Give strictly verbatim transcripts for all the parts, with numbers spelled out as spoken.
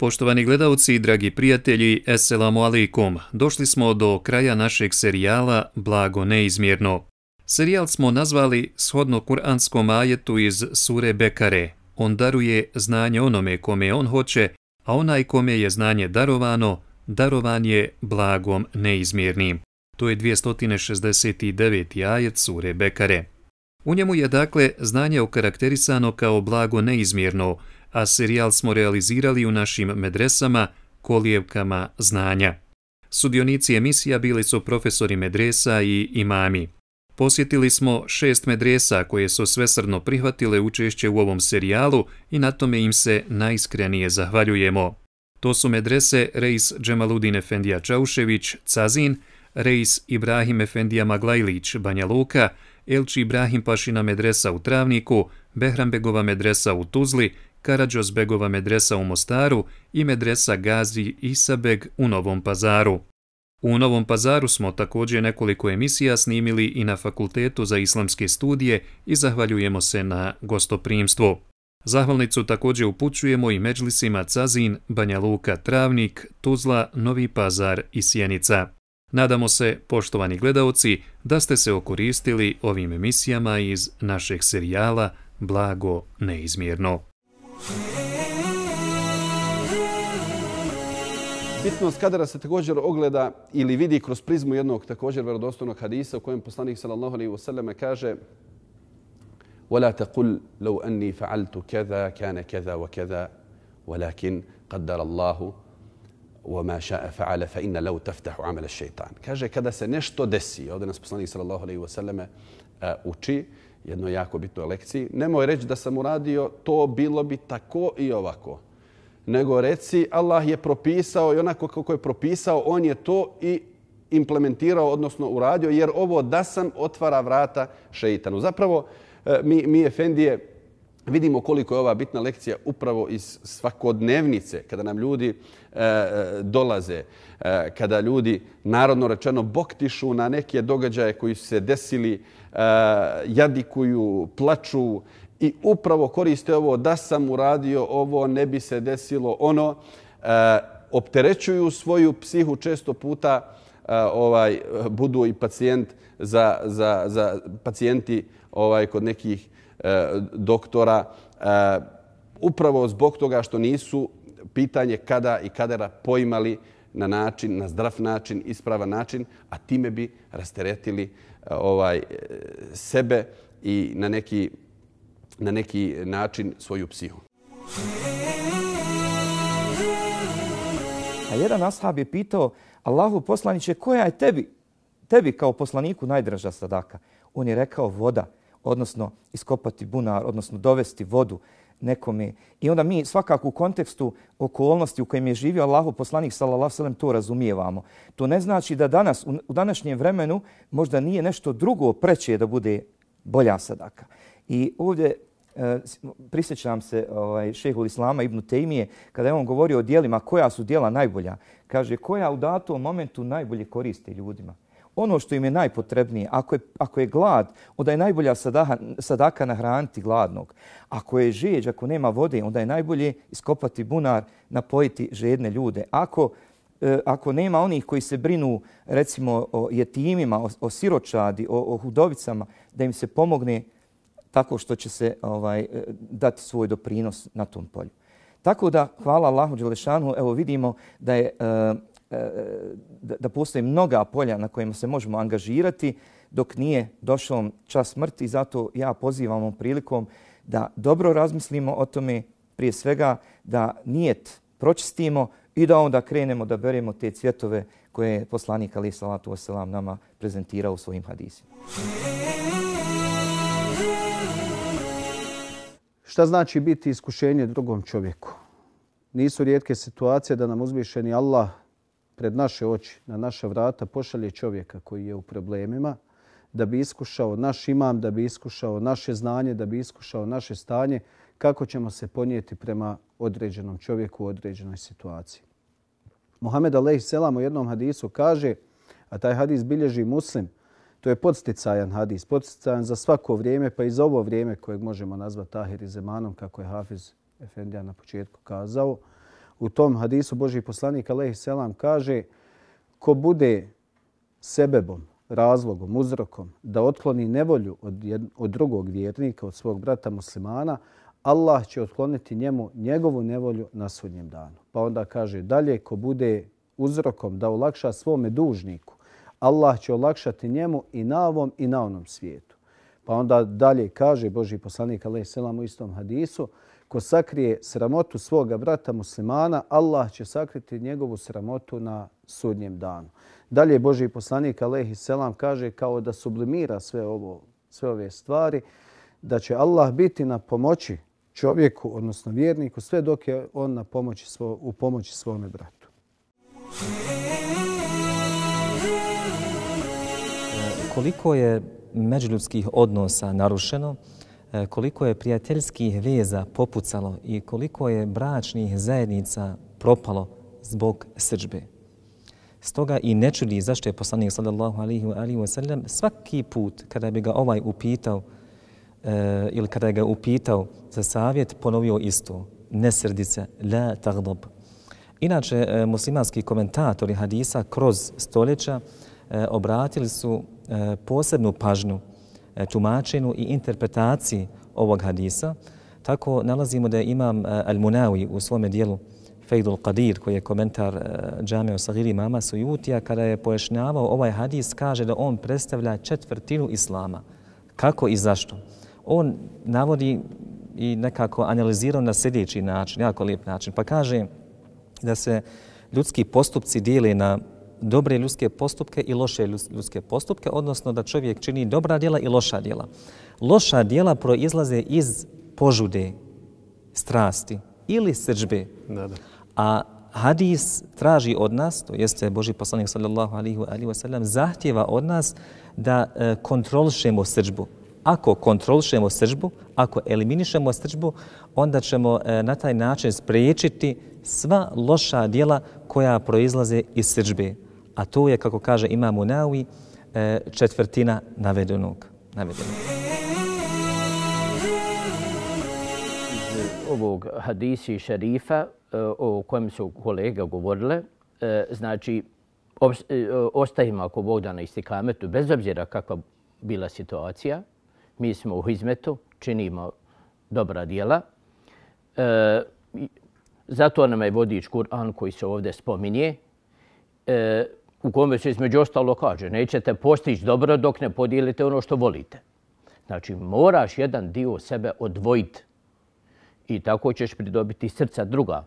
Poštovani gledalci i dragi prijatelji, Esselamu alaikum. Došli smo do kraja našeg serijala Blago neizmjerno. Serijal smo nazvali shodno kuranskom ajetu iz sure Bekare. On daruje znanje onome kome on hoće, a onaj kome je znanje darovano, darovan je blagom neizmjernim. To je dvjesto šezdeset deveti ajet sure Bekare. U njemu je dakle znanje okarakterisano kao blago neizmjerno, a serijal smo realizirali u našim medresama, kolijevkama znanja. Sudionici emisija bili su profesori medresa i imami. Posjetili smo šest medresa koje su svesrdno prihvatile učešće u ovom serijalu i na tome im se najiskrenije zahvaljujemo. To su medrese Reis Džemaludin Efendija Čaušević, Cazin, Reis Ibrahim Efendija Maglajlić, Banja Luka, Elči Ibrahim Pašina medresa u Travniku, Behrambegova medresa u Tuzli, Karadžozbegova medresa u Mostaru i medresa Gazi Isabeg u Novom Pazaru. U Novom Pazaru smo također nekoliko emisija snimili i na Fakultetu za islamske studije i zahvaljujemo se na gostoprimstvu. Zahvalnicu također upućujemo i medžlisima Cazin, Banja Luka, Travnik, Tuzla, Novi Pazar i Sjenica. Nadamo se, poštovani gledaoci, da ste se okoristili ovim emisijama iz našeg serijala Blago neizmjerno. Bitnost kadera se također ogleda ili vidi kroz prizmu jednog također vjerodostojnog hadisa u kojem poslanik sallallahu alejhi ve selleme kaže: "Wala taqul law anni fa'altu kaza kana kaza wa kaza, walakin qaddara Allahu wa ma sha'a fa'ala fa inna law taftahu 'amal ash-shaytan." Kaže, kada se nešto desi, ovdje nas poslanik sallallahu alejhi ve selleme uči jednoj jako bitnoj lekciji, nemoj reći da sam uradio to, bilo bi tako i ovako. Nego reci, Allah je propisao i onako kako je propisao, on je to i implementirao, odnosno uradio, jer ovo da sam otvara vrata šeitanu. Zapravo, mi, mi efendije vidimo koliko je ova bitna lekcija upravo iz svakodnevnice, kada nam ljudi e, dolaze, e, kada ljudi, narodno rečeno, boktišu na neke događaje koji su se desili, e, jadikuju, plaču, i upravo koriste ovo, da sam uradio ovo, ne bi se desilo ono. E, opterećuju svoju psihu, često puta e, ovaj, budu i pacijent za, za, za pacijenti ovaj, kod nekih e, doktora. E, upravo zbog toga što nisu pitanje kada i kadera poimali na način, na zdrav način, ispravan način, a time bi rasteretili ovaj, sebe i na neki na neki način svoju psihu. A jedan ashab je pitao: Allahu poslaniče, koja je tebi, tebi kao poslaniku najdraža sadaka? On je rekao: voda, odnosno iskopati bunar, odnosno dovesti vodu nekome. I onda mi svakako u kontekstu okolnosti u kojem je živio Allahu poslanik sallallahu alejhi ve sellem to razumijevamo. To ne znači da danas, u današnjem vremenu, možda nije nešto drugo preče da bude bolja sadaka. I ovdje e, prisjećam se ovaj, šehhul Islama ibn Tejmije kada je on govorio o dijelima koja su dijela najbolja. Kaže, koja u datom momentu najbolje koriste ljudima. Ono što im je najpotrebnije, ako je, ako je glad, onda je najbolja sadaka, sadaka nahraniti gladnog. Ako je žeđ, ako nema vode, onda je najbolje iskopati bunar, napojiti žedne ljude. Ako Ako nema onih koji se brinu, recimo, o jetimima, o, o siročadi, o, o hudovicama, da im se pomogne tako što će se ovaj, dati svoj doprinos na tom polju. Tako da, hvala Allahu dželešanu, evo vidimo da, je, da, da postoje mnoga polja na kojima se možemo angažirati dok nije došao čas smrti. Zato ja pozivam ovom prilikom da dobro razmislimo o tome, prije svega da nijet pročistimo i da onda krenemo da beremo te cvjetove koje je poslanik alejhi salatu vesselam nama prezentirao u svojim hadisima. Šta znači biti iskušenje drugom čovjeku? Nisu rijetke situacije da nam uzvišeni Allah pred naše oči, na naša vrata pošalje čovjeka koji je u problemima, da bi iskušao naš imam, da bi iskušao naše znanje, da bi iskušao naše stanje, kako ćemo se ponijeti prema određenom čovjeku u određenoj situaciji. Muhammed alejhi selam u jednom hadisu kaže, a taj hadis bilježi Muslim, to je podsticajan hadis, podsticajan za svako vrijeme, pa i za ovo vrijeme kojeg možemo nazvati ahir i zemanom, kako je Hafiz Efendija na početku kazao. U tom hadisu Božji poslanik alejhi selam kaže ko bude sebebom, razlogom, uzrokom da otkloni nevolju od, jed, od drugog vjernika, od svog brata muslimana, Allah će otkloniti njemu njegovu nevolju na sudnjem danu. Pa onda kaže dalje, ko bude uzrokom da olakša svome dužniku, Allah će olakšati njemu i na ovom i na onom svijetu. Pa onda dalje kaže Božji poslanik alejhi selam u istom hadisu, ko sakrije sramotu svoga brata muslimana, Allah će sakriti njegovu sramotu na sudnjem danu. Dalje Božji poslanik alejhi selam kaže kao da sublimira sve ovo, sve ove stvari, da će Allah biti na pomoći čovjeku, odnosno vjerniku, sve dok je on na pomoći svo, u pomoći svome bratu. Koliko je međuljudskih odnosa narušeno, koliko je prijateljskih veza popucalo i koliko je bračnih zajednica propalo zbog srdžbe. Stoga i ne čudi zašto je poslanik sallallahu alejhi ve sellem svaki put kada bi ga ovaj upitao e, ili kada je ga upitao za savjet ponovio isto. Ne srdi se, la tagdab. Inače, e, muslimanski komentatori hadisa kroz stoljeća e, obratili su e, posebnu pažnju e, tumačenju i interpretaciji ovog hadisa. Tako nalazimo da je imam e, Al-Munawi u svome dijelu Faidul Qadir, koji je komentar uh, Džamea Sagir imama Sujutija, kada je pojašnjavao ovaj hadis, kaže da on predstavlja četvrtinu islama. Kako i zašto? On navodi i nekako analizirao na sljedeći način, jako lijep način, pa kaže da se ljudski postupci dijele na dobre ljudske postupke i loše ljudske postupke, odnosno da čovjek čini dobra djela i loša djela. Loša djela proizlaze iz požude, strasti ili srdžbe. Da, da. A hadis traži od nas, to jeste Božji poslanik sallallahu alejhi ve sellem zahtjeva od nas da e, kontrolišemo srdžbu. Ako kontrolišemo srdžbu, ako eliminišemo srdžbu, onda ćemo e, na taj način spriječiti sva loša djela koja proizlaze iz srdžbe. A to je, kako kaže imam Munawi, e, četvrtina navedenog. navedenog. Ovog hadisi šerifa o kojem su kolega govorile, znači ostajemo ako Bog da na istikametu, bez obzira kakva bila situacija. Mi smo u hizmetu, činimo dobra djela. Zato nam je vodič Kur'an koji se ovdje spominje, u kome se između ostalo kaže nećete postići dobro dok ne podijelite ono što volite. Znači moraš jedan dio sebe odvojiti i tako ćeš pridobiti srca druga.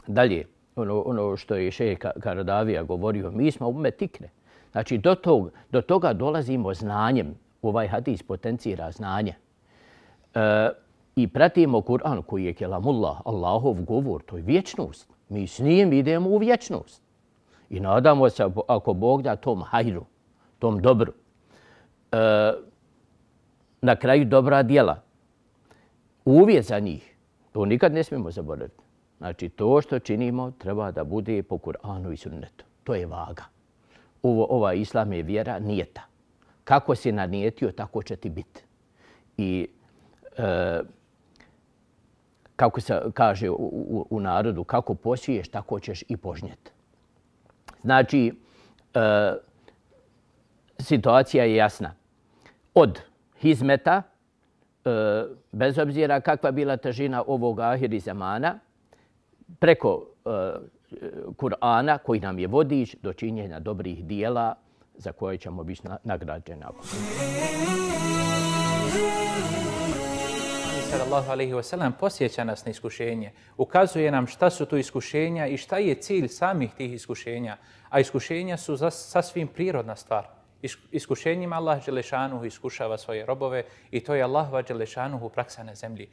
Dalje, ono, ono što je šejh Karadavija govorio, mi smo umet ikre. Znači, do, tog, do toga dolazimo znanjem. Ovaj hadis potencira znanje. E, I pratimo Kur'an koji je kelamullah, Allahov govor, to je vječnost. Mi s njim idemo u vječnost. I nadamo se, ako Bog da, tom hajru, tom dobru. E, na kraju dobra djela. Uvjet za njih, to nikad ne smijemo zaboraviti. Znači, to što činimo treba da bude po Kur'anu i sunnetu. To je vaga. Ovo, ova islam je vjera nijeta. Kako si nanijetio, tako će ti biti. I e, kako se kaže u, u, u narodu, kako posiješ, tako ćeš i požnjeti. Znači, e, situacija je jasna. Od hizmeta, e, bez obzira kakva bila težina ovog ahiri zamana, preko uh, Kur'ana koji nam je vodič do činjenja dobrih dijela za koje ćemo biti nagrađeni. Sallallahu alejhi ve sellem posjeća nas na iskušenje, ukazuje nam šta su to iskušenja i šta je cilj samih tih iskušenja. A iskušenja su sasvim prirodna stvar. Iskušenjima Allah dželešanuhu iskušava svoje robove i to je Allahova dželešanuhu praksa na zemlji.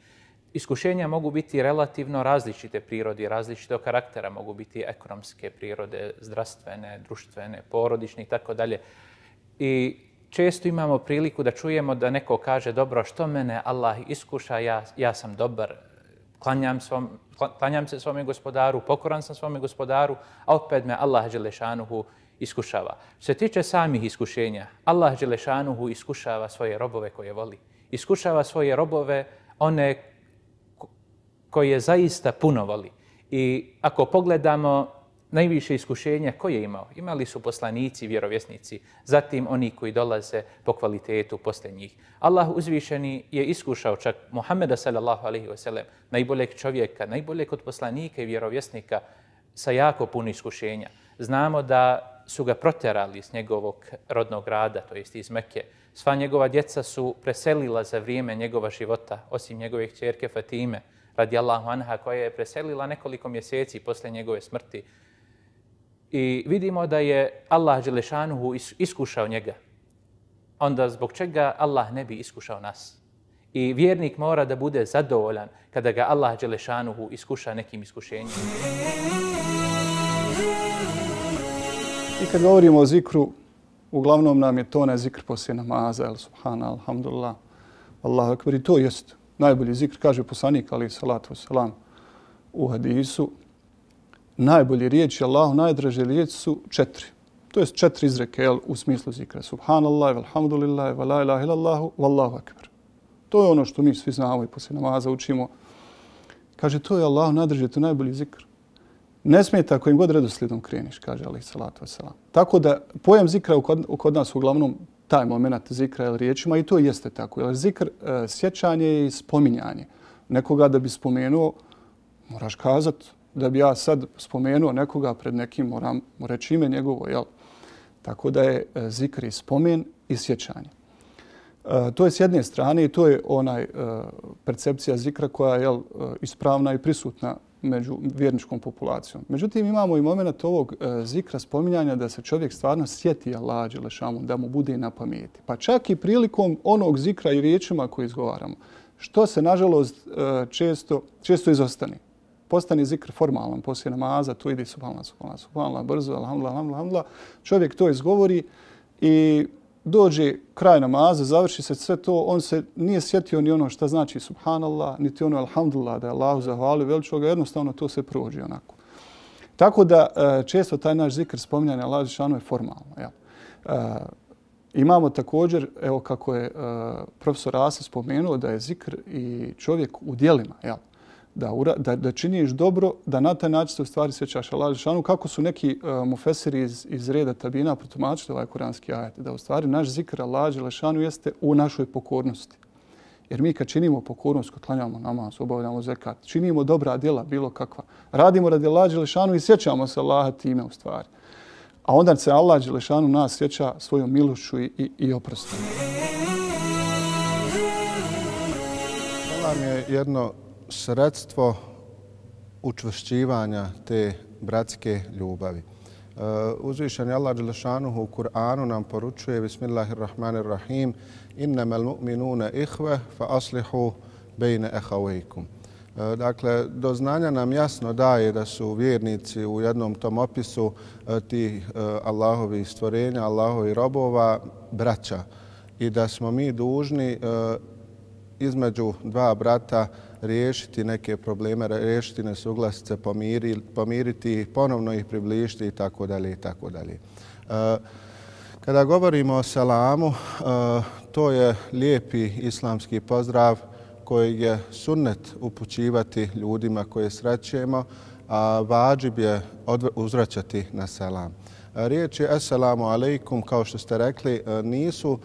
Iskušenja mogu biti relativno različite prirode, različitog karaktera, mogu biti ekonomske prirode, zdravstvene, društvene, porodične i tako dalje. I često imamo priliku da čujemo da neko kaže dobro, što mene Allah iskuša, ja, ja sam dobar, klanjam, svom, klanjam se svome gospodaru, pokoran sam svome gospodaru, a opet me Allah dželešanuhu iskušava. Što se tiče samih iskušenja, Allah dželešanuhu iskušava svoje robove koje voli. Iskušava svoje robove, one koje zaista puno voli. I ako pogledamo najviše iskušenja koje je imao, imali su poslanici, vjerovjesnici, zatim oni koji dolaze po kvalitetu posle njih. Allah uzvišeni je iskušao čak Muhammeda sallallahu alejhi ve sellem, najboljeg čovjeka, najboljeg od poslanika i vjerovjesnika, sa jako puno iskušenja. Znamo da su ga protjerali s njegovog rodnog grada, to jest iz Mekke. Sva njegova djeca su preselila za vrijeme njegova života, osim njegove kćerke Fatime, radijallahu anha, koja je preselila nekoliko mjeseci posle njegove smrti. I vidimo da je Allah dželešanuhu iskušao njega. Onda zbog čega Allah ne bi iskušao nas? I vjernik mora da bude zadovoljan kada ga Allah dželešanuhu iskuša nekim iskušenjem. I kad govorimo o zikru, uglavnom nam je to ne zikr poslije namaza, el subhana, alhamdulillah, Allahu akbar. I to jest najbolji zikr, kaže poslanik, alejhi salatu vesselam, u hadisu. Najbolje riječi Allahu, najdraže riječi su četiri. To jest četiri izreke jel, u smislu zikra. Subhanallah, alhamdulillah, wa la ilaha illallahu, wallahu akbar. To je ono što mi svi znamo i poslije namaza učimo. Kaže, to je Allahu najdraže, to je najbolji zikr. Ne smeta kojim god redoslijedom kreniš, kaže alejhi salatu vesselam. Tako da pojam zikra kod, kod nas uglavnom taj moment zikra ili riječima i to jeste tako. Jer zikr e, sjećanje i spominjanje. Nekoga da bi spomenuo, moraš kazati da bi ja sad spomenuo nekoga pred nekim, moram mu reći ime njegovo. Jel? Tako da je e, zikr i spomen i sjećanje. E, to je s jedne strane i to je onaj e, percepcija zikra koja je jel, e, ispravna i prisutna među vjerničkom populacijom. Međutim, imamo i moment ovog e, zikra spominjanja da se čovjek stvarno sjeti Allaha dželešanu, da mu bude na pameti. Pa čak i prilikom onog zikra i riječima koje izgovaramo, što se nažalost e, često, često izostane. Postane zikr formalan poslije namaza, to ide subhanallah, subhanallah, subhanallah, brzo, alhamdulillah, alhamdulillah. Čovjek to izgovori i dođe kraj namaza, završi se sve to, on se nije sjetio ni ono što znači subhanallah, niti ono alhamdulillah, da je Allahu zahvalio veličoga, jednostavno to se prođe onako. Tako da često taj naš zikr spominjanja Allaha dželešanu je formalno. Jel? E, imamo također, evo kako je e, profesor Asa spomenuo, da je zikr i čovjek u djelima. Jel? Da, da, da činiš dobro, da na taj način se u stvari sjećaš Allaha dželešanu, kako su neki uh, mufesiri iz, iz reda tabina protumačili ovaj kuranski ajet, da u stvari naš zikr Allaha dželešanu jeste u našoj pokornosti. Jer mi kad činimo pokornost, kad klanjamo namaz, obavljamo zekat, činimo dobra djela, bilo kakva, radimo radi Allaha dželešanu i sjećamo se Allaha time u stvari. A onda se Allah dželešanu nas sjeća svojom milošću i, i, i oprostom. Selam je jedno sredstvo učvršćivanja te bratske ljubavi. Uh, uzvišeni Allah dželešanuhu u Kur'anu nam poručuje Bismillahirrahmanirrahim innamal mu'minuna ihve fa aslihu bejne ehavejkum. Uh, dakle, do znanja nam jasno daje da su vjernici u jednom tom opisu uh, tih uh, Allahovih stvorenja, Allahovih robova, braća i da smo mi dužni uh, između dva brata riješiti neke probleme, riješiti nesuglasice, pomiri, pomiriti ih, ponovno ih približiti i tako dalje i tako dalje. Kada govorimo o selamu, to je lijepi islamski pozdrav koji je sunnet upućivati ljudima koje srećemo, a vađib je uzvraćati na selam. Riječi assalamu alaikum, kao što ste rekli, nisu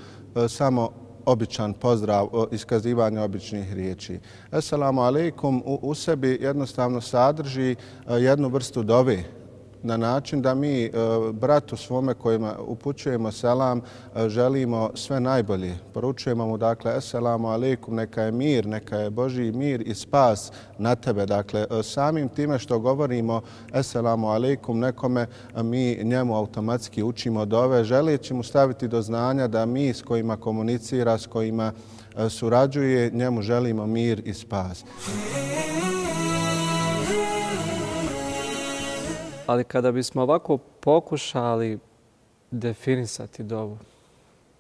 samo običan pozdrav, iskazivanje običnih riječi. Assalamu alaikum u, u sebi jednostavno sadrži jednu vrstu dove na način da mi bratu svome kojima upućujemo selam želimo sve najbolje. Poručujemo mu dakle assalamu alaikum, neka je mir, neka je Božji mir i spas na tebe. Dakle, samim time što govorimo assalamu alaikum nekome, mi njemu automatski učimo dove, želeći mu staviti do znanja da mi s kojima komunicira, s kojima surađuje, njemu želimo mir i spas. Ali kada bismo ovako pokušali definisati dovu,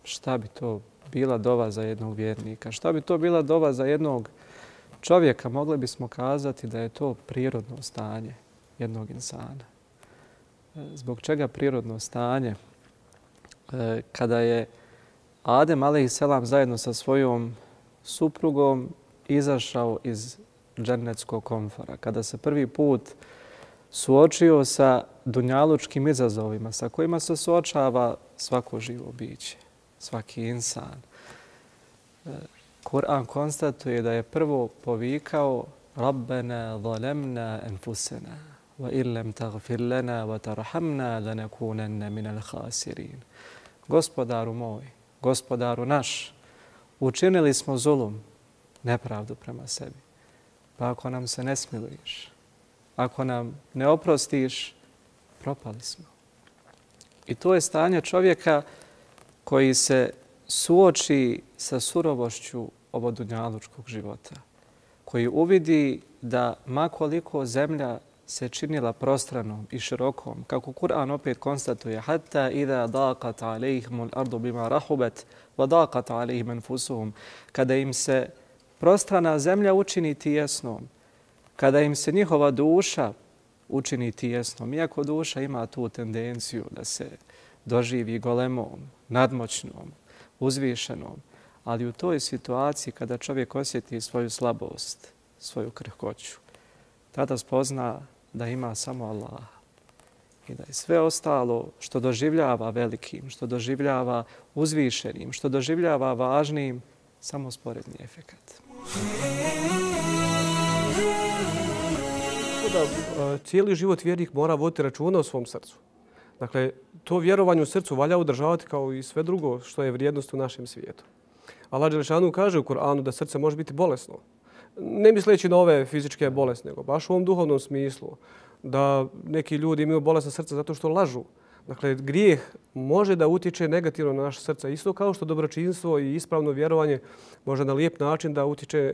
šta bi to bila dova za jednog vjernika? Šta bi to bila dova za jednog čovjeka? Mogli bismo kazati da je to prirodno stanje jednog insana. Zbog čega prirodno stanje? Kada je Adem alejhiselam zajedno sa svojom suprugom izašao iz džennetskog komfora, kada se prvi put suočio sa dunjalučkim izazovima sa kojima se suočava svako živo biće, svaki insan. Kur'an konstatuje da je prvo povikao Rabbena zalemna enfusena wa illam taghfir lana wa tarhamna lanakunanna minal khasirin. Gospodaru moj, gospodaru naš, učinili smo zulum, nepravdu prema sebi. Pa ako nam se ne smiluješ, ako nam ne oprostiš, propali smo. I to je stanje čovjeka koji se suoči sa surovošću ovog dunjalučkog života, koji uvidi da makoliko zemlja se činila prostranom i širokom, kako Kur'an opet konstatuje, hatta idha daqat alejhimul ardu bima rahubat wa daqat alejhim anfusuhum, kada im se prostrana zemlja učini tijesnom, kada im se njihova duša učini tijesnom, iako duša ima tu tendenciju da se doživi golemom, nadmoćnom, uzvišenom, ali u toj situaciji kada čovjek osjeti svoju slabost, svoju krhkoću, tada spozna da ima samo Allah i da je sve ostalo što doživljava velikim, što doživljava uzvišenim, što doživljava važnim, samo sporedni efekat. Da, cijeli život vjernik mora voditi računa o svom srcu. Dakle, to vjerovanje u srcu valja održavati kao i sve drugo što je vrijednost u našem svijetu. Allah dželešanu kaže u Kur'anu da srce može biti bolesno. Ne misleći na ove fizičke bolesti, nego baš u ovom duhovnom smislu. Da neki ljudi imaju bolesna srca zato što lažu. Dakle, grijeh može da utječe negativno na naše srce. Isto kao što dobročinstvo i ispravno vjerovanje može na lijep način da utječe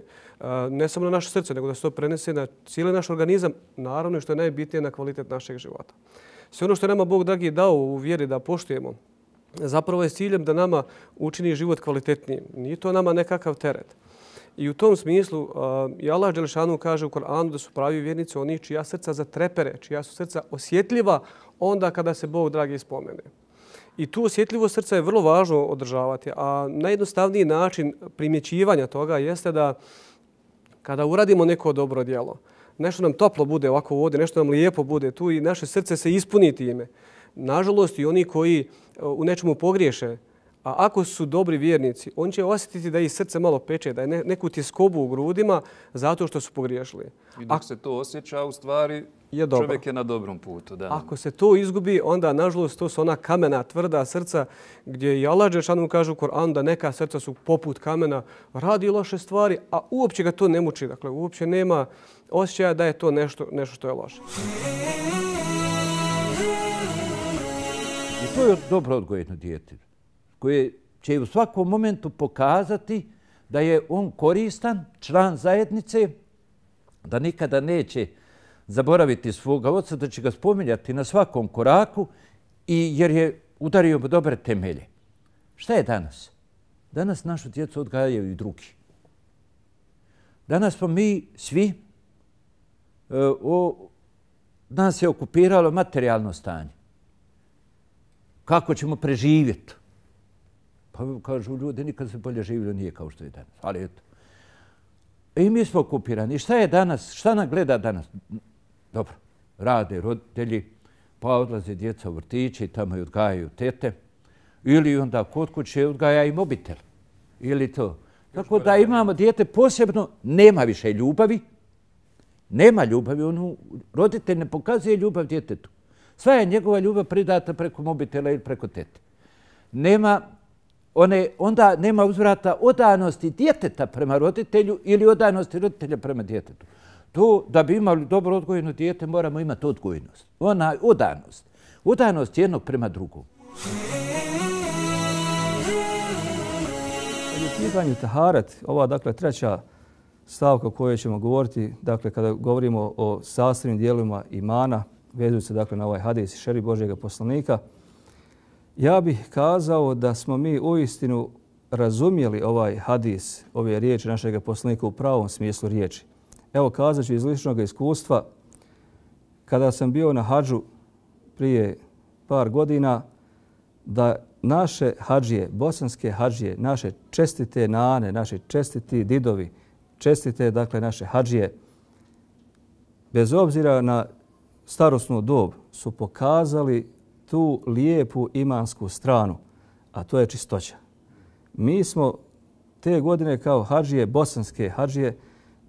ne samo na naše srce, nego da se to prenese na cijeli naš organizam, naravno i što je najbitnije na kvalitet našeg života. Sve ono što je nama Bog dragi dao u vjeri da poštujemo, zapravo je s ciljem da nama učini život kvalitetnijim. Nije to nama nekakav teret. I u tom smislu uh, i Allah dželešanu kaže u Koranu da su pravi vjernici oni čija srca zatrepere, čija su srca osjetljiva onda kada se Bog dragi spomene. I tu osjetljivost srca je vrlo važno održavati, a najjednostavniji način primjećivanja toga jeste da kada uradimo neko dobro djelo, nešto nam toplo bude ovako ovdje, nešto nam lijepo bude tu i naše srce se ispuni time. Nažalost, i oni koji u nečemu pogriješe, a ako su dobri vjernici, oni će osjetiti da ih srce malo peče, da je neku tjeskobu u grudima zato što su pogriješili. I dok se to osjeća, u stvari je čovjek je na dobrom putu. Da. Ako se to izgubi, onda, nažalost, to su ona kamena, tvrda srca gdje i Allah dželešanu kaže u Koranu da neka srca su poput kamena, radi loše stvari, a uopće ga to ne muči. Dakle, uopće nema osjećaja da je to nešto, nešto što je loše. I to je dobro odgojeno dijete, koje će u svakom momentu pokazati da je on koristan, član zajednice, da nikada neće zaboraviti svoga oca, da će ga spominjati na svakom koraku i jer je udario dobre temelje. Šta je danas? Danas našu djecu odgajaju i drugi. Danas smo mi svi, o, nas je okupiralo materijalno stanje. Kako ćemo preživjeti? Pa kažu ljudi, nikad se bolje živjelo nije kao što je danas. Ali eto. I mi smo okupirani. Šta je danas? Šta nam gleda danas? Dobro, rade roditelji, pa odlaze djeca u vrtiće i tamo i odgajaju tete. Ili onda kod kuće odgaja i mobitel. Ili to. Tako da imamo dijete posebno, nema više ljubavi. Nema ljubavi. On, roditelj ne pokazuje ljubav djetetu. Sva je njegova ljubav pridata preko mobitela ili preko tete. Nema, one, onda nema uzvrata odanosti djeteta prema roditelju ili odanosti roditelja prema djetetu. To, da bi imali dobro odgojeno dijete, moramo imati odgojnost. Ona odanost. Odanost jednog prema drugom. U pitanju taharet, ova dakle treća stavka o kojoj ćemo govoriti, dakle kada govorimo o sastavnim dijelovima imana, vezuju se dakle na ovaj hadis šerif Božjega poslanika, ja bih kazao da smo mi uistinu razumjeli ovaj hadis, ove riječi našeg poslanika u pravom smislu riječi. Evo kazat ću iz ličnog iskustva, kada sam bio na hadžu prije par godina, da naše hadžije, bosanske hadžije, naše čestite nane, naše čestiti didovi, čestite dakle naše hadžije, bez obzira na starosnu dob su pokazali tu lijepu imansku stranu, a to je čistoća. Mi smo te godine kao hadžije, bosanske hadžije,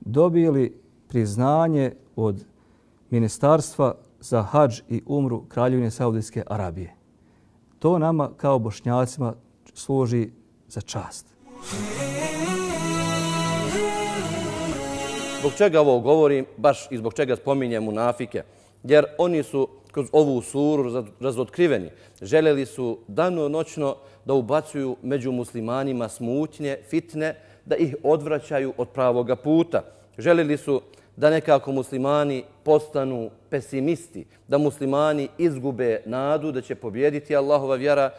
dobili priznanje od Ministarstva za hadž i umru Kraljevine Saudijske Arabije. To nama kao Bošnjacima služi za čast. Zbog čega ovo govorim, baš i zbog čega spominjem munafike? Jer oni su kroz ovu suru razotkriveni. Željeli su danonoćno da ubacuju među muslimanima smutnje, fitne, da ih odvraćaju od pravoga puta. Željeli su da nekako muslimani postanu pesimisti, da muslimani izgube nadu da će pobjediti Allahova vjera,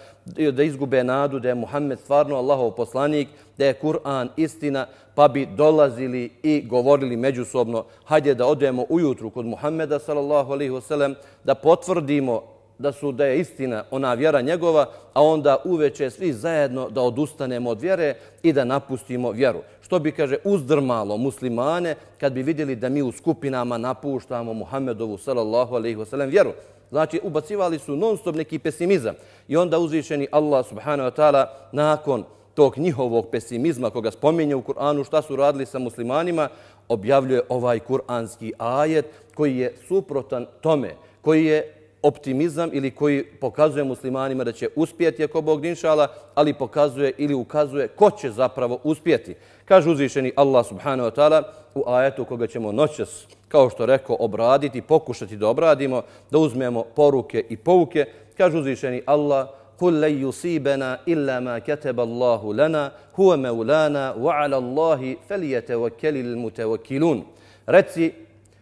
da izgube nadu da je Muhammed stvarno Allahov poslanik, da je Kur'an istina, pa bi dolazili i govorili međusobno: hajde da odemo ujutru kod Muhammeda sallallahu alejhi ve sellem, da potvrdimo da su da je istina ona vjera njegova, a onda uveče svi zajedno da odustanemo od vjere i da napustimo vjeru. Što bi, kaže, uzdrmalo muslimane kad bi vidjeli da mi u skupinama napuštamo Muhammedovu sallallahu alejhi ve sellem vjeru. Znači, ubacivali su non stop neki pesimizam. I onda uzvišeni Allah subhanahu wa ta'ala nakon tog njihovog pesimizma koga spominje u Kur'anu šta su radili sa muslimanima, objavljuje ovaj kur'anski ajet koji je suprotan tome, koji je optimizam ili koji pokazuje muslimanima da će uspjeti ako Bog inšala, ali pokazuje ili ukazuje ko će zapravo uspjeti. Kaže uzvišeni Allah subhanahu wa ta'ala u ajetu koga ćemo noćas, kao što rekao, obraditi, pokušati da obradimo, da uzmemo poruke i pouke. Kaže uzvišeni Allah: قُلْ لَنْ يُصِيبَنَا إِلَّا مَا كَتَبَ اللَّهُ لَنَا هُوَ مَوْلَانَا وَعَلَى اللَّهِ فَلْيَتَوَكَّلِ الْمُتَوَكِّلُونَ. Reci,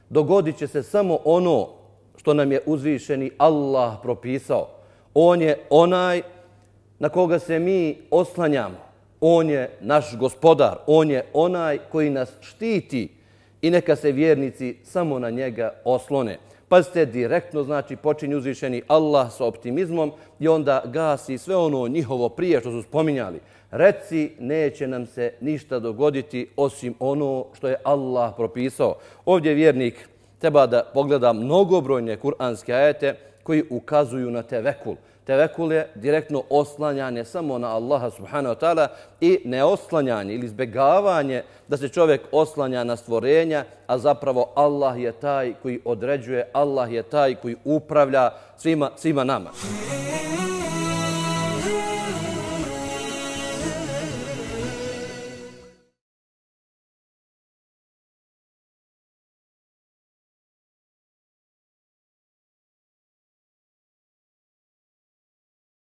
dogodit će se samo ono što nam je uzvišeni Allah propisao. On je onaj na koga se mi oslanjamo. On je naš gospodar. On je onaj koji nas štiti i neka se vjernici samo na njega oslone. Pazite, direktno znači počinje uzvišeni Allah sa optimizmom i onda gasi sve ono njihovo prije što su spominjali. Reci, neće nam se ništa dogoditi osim ono što je Allah propisao. Ovdje vjernik treba da pogleda mnogobrojne kuranske ajete koji ukazuju na tevekul. Tevekul je direktno oslanjanje samo na Allaha subhanahu wa ta'ala i neoslanjanje ili izbjegavanje da se čovjek oslanja na stvorenja, a zapravo Allah je taj koji određuje, Allah je taj koji upravlja svima, svima nama.